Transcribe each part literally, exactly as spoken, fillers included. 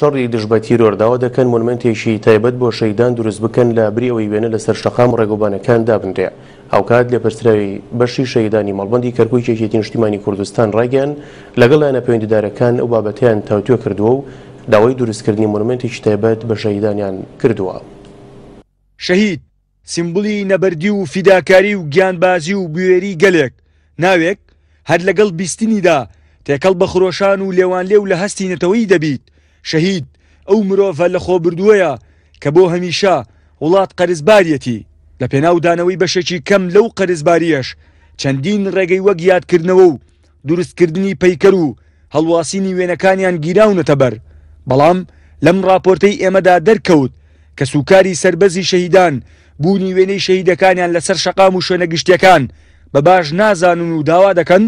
شەڕی دژ بە تیرۆر داوا دەکەن مۆنومێنتێکی تایبەت بۆ شەهیدان دروست بکەن لە بری ئەوەی وێنە لەسەر شەقام و ڕێگەوبانەکان دابنرێ. هاوکات لێپرسراوی بەشی شەهیدانی مەڵبەندی کەرکووکی یەکێتی نیشتیمانی کوردستان ڕایگەیاند لەگەڵ لایەنە پەیوەندیدارەکان ئەو بابەتەیان تاوتوێ کردووە و داوای دروستکردنی مۆنومێنتێکی تایبەت بە شەهیدانیان کردووە. شەهید سیمبولی نەبەردی و فیداکاری و گیانبازی و بوێری گەلێک، ناوێک هەر لەگەڵ بیستنیدا تێکەڵ بە خرۆشان و لێوانلێو لە هەستی نەتەوەیی دەبیت. شەهید ئەو مرۆڤە لە خۆبردووەیە کە بۆ هەمیشە وڵات قەرزباریەتی، لە پێناودانەوەی بەشێکی کەم لەو قەرزباریەش چەندین ڕێگەی وەک یادکردنەوە و دروستکردنی پەیکەر و هەڵواسینی وێنەکانیان گیراونەتە بەر. بەڵام لەم راپۆرتەی ئێمەدا دەرکەوت کە سوکاری سەربەزی شەهیدان بوونی وێنەی شەهیدەکانیان لەسەر شەقام و شوێنە گشتیەکان بە باش نازانن و داوا دەکەن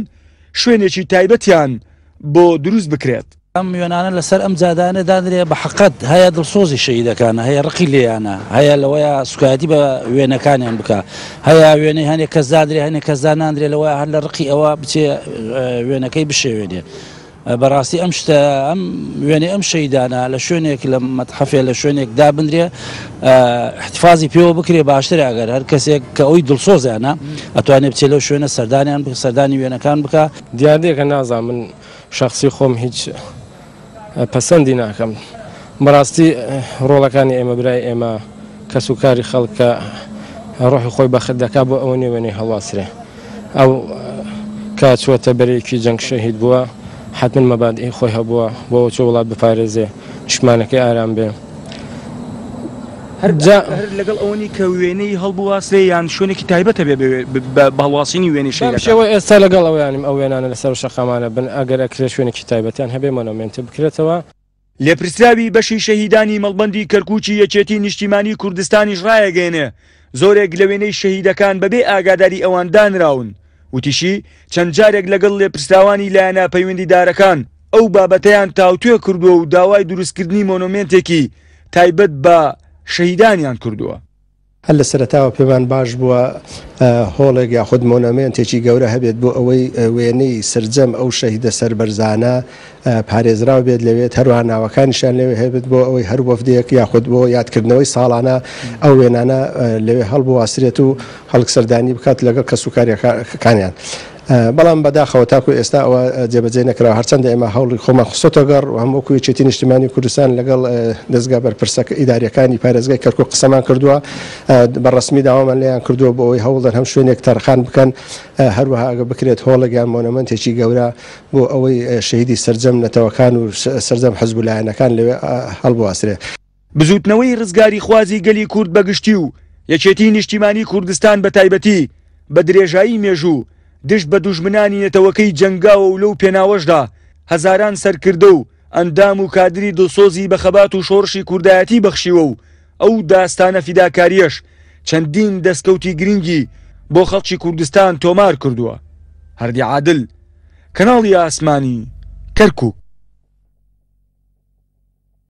شوێنێکی تایبەتیان بۆ دروست بکرێت. ئەم وێنانە لەسەر ئەم جادانە دانرێ بە حەقەت هەیە دڵسۆزی شەهیدەکانە، هەیە ڕقی لێیانە، هەیە لەوەیە سوکایەتی بە وێنەکانیان بکە، هەیە وێنەی هەنێک کەس دادرێ هەنێک کەس داناندرێ لەوەیە هەر لە ڕقی ئەوە بچێ وێنەکەی بشێوێنێ. بەڕاستی ئەم شتە ئەم وێنەی ئەم شەهیدانە لە شوێنێک لە مەتحەفێ لە شوێنێک دابنرێ احتفاظی پێوە بکرێ باشترە. ئەگەر هەر کەسێک کە ئەوی دڵسۆزیانە ئەتوانێت بچێ لەو شوێنە سەردانیان بکە، سەردانی وێنەکان بکە. دیاردەیەکە نازانم، من شخصی خۆم هیچ پەسەندی ناکەم. بەڕاستی ڕۆڵەکانی ئێمە برای ئێمە کەس و کاری خەڵکە ڕۆحی خۆی بەخت دەکا بۆ ئەوە نێوێنەی هەڵواسرێ. ئەو کە چووەتە بەرێکی جەنگ شەهید بووە حتماً مەبادئی خۆی هەبووە بۆ ئەوە چۆ وڵات بپارێزێ، نیشتمانەکەی ئارام بێ. هەر لەگەڵ ئەوەنی کە وێنەی هەڵبواسرێ یان شوێنێکی تایبەتە بێ بە هەڵواسینی وێنەی شەهیدەکان؟ بەم شێوە ئێستا لەگەڵ ئەوەیانم ئەو وێنانە لەسەر شەقامانە بن، ئەگەر ئەکرێ شوێنێکی تایبەتیان هەبێ مۆنۆمێنتە بکرێتەوە. لێپرسراوی بەشی شەهیدانی مەڵبەندی کەرکووکی یەکێتی نیشتیمانی کوردستانیش ڕایەگەیەنێ زۆرێک لە وێنەی شەهیدەکان بەبێ ئاگاداری ئەوان دانراون. وتیشی چەند جارێک لەگەڵ لێپرسراوانی لایەنە پەیوەندیدارەکان ئەو بابەتەیان تاوتوێ کردووە و داوای دروستکردنی مۆنۆمێنتێکی تایبەت بە شەهیدانیان کردووە. هەر لە سەرەتاوە پێمان باش بووە هۆڵێک یاخود مۆنۆمێنتێکی گەورە هەبێت بۆ ئەوەی وێنەی سەرجەم ئەو شەهیدە سەربەرزانە پارێزراو بێت لەوێت، هەروەها ناوەکانیشیان لەوێ هەبێت بۆ ئەوەی هەر وەفدێک یاخود بۆ یادکردنەوەی ساڵانە ئەو وێنانە لەوێ هەڵبواسرێت و خەڵک سەردانی بکات لەگەڵ کەسوکاریەکانیان. بەڵام بەداخەوە تاکو ئێستا ئەوە جێبەجێ نەکراوە. هەرچەندە ئێمە هەوڵی خۆمان خستۆتە گەڕ و هەم وەکو یەکێتی نیشتیمانی کوردستان لەگەڵ دەستگا بەرپرسە ئیداریەکانی پارێزگای کەرکوک قسەمان کردووە، بە ڕەسمی داوامان لێیان کردووە بۆ ئەوەی هەوڵدەن هەم شوێنێک تەرخان بکەن، هەروەها ئەگە بکرێت هۆڵێک یان مۆنۆمێنتێکی گەورە بۆ ئەوەی شەهیدی سەرجەم نەتەوەکان و سەرجەم حزب و لایەنەکان لەوێ هەڵبواسرێ. بزوتنەوەی ڕزگاری خوازی گەلی کورد بەگشتی و یەکێتی نیشتیمانی کوردستان بە تایبەتی بە درێژایی مێژوو دژ بە دوژمنانی نەتەوەکەی جەنگاوە و لەو پێناوەشدا هەزاران سەرکردە و ئەندام و کادری دڵسۆزی بە خەبات و شۆڕشی کوردایەتی بەخشیوە و ئەو داستانە فیداکاریەش چەندین دەستکەوتی گرنگی بۆ خەڵکی کوردستان تۆمار کردووە. هەردی عادل، کەناڵی ئاسمانی، کەرکوک.